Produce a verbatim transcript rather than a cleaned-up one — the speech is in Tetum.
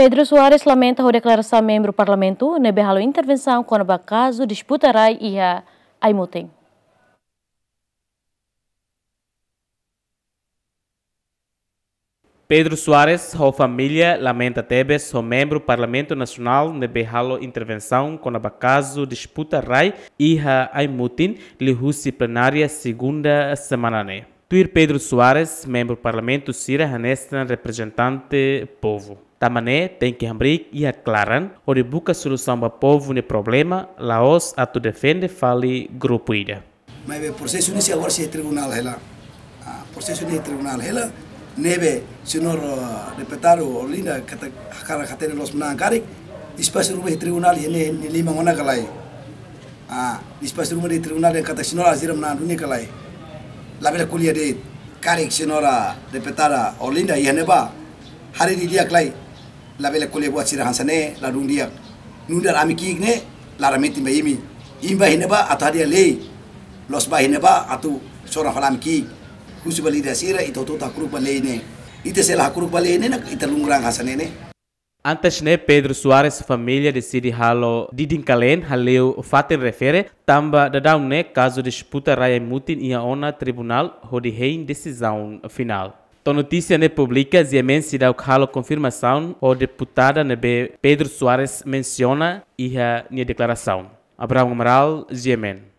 Pedro Soares lamenta ho deklarasaun membru parlamentu ne'ebé halo intervensaun kona-ba kazu disputa rai iha Aimutin. Pedro Soares ho família lamenta tebes ho membru Parlamentu Nasionál ne'ebé halo intervensaun kona-ba kazu disputa rai iha Aimutin liuhusi plenária segunda semana ne'e. Tuir Pedro Soares, membru parlamentu sira hanesan reprezentante povu. Tanba ne'e tenke hamriik iha klaran hodi buka solusaun ba povu nia problema, la'ós atu defende fali grupu ida. Maibé prosesu ne'e sei agora sei tribunál hela. Ah, prosesu ne'e tribunál hela. Ne'ebé señór, ah, deputadu Olinda katak hakarak hatene loos manán karik. Despaxu ruma iha tribunál iha ne'e, ne'e liman ona ka lae. Ah, despaxu ruma iha tribunál dehan katak señór Alzira manán duni ka lae. Labele ko'alia de'it. Karik señora deputada Olinda iha ne'ebá haree didi'ak ka lae. Labele ko'alia buat sira hanesan ne'e, ladún di'ak. Nu'udar ami ki'ik ne'e, laran metin ba imi. Imi bá iha ne'ebá atu hadi'a lei. Loos bá iha ne'ebá atu sora fali ami ki'ik. Husu ba líder sira, ita hotu-hotu hakru'uk ba lei ne'e. Ita se la hakru'uk ba lei ne'e, ita lungran hanesan ne'e ne'e. Antes ne'e, Pedro Soares família deside halo didin-kaleen haleu fatin refere, tanba daudaun ne'e kazu disputa rai Aimutin iha ona tribunál hodi hein desizaun finál. To'o notísia ne'e publika, GMN seidauk halo konfirmasaun ho deputada ne'ebé Pedro Soares mensiona iha nia deklarasaun. Abraham Amaral, GMN.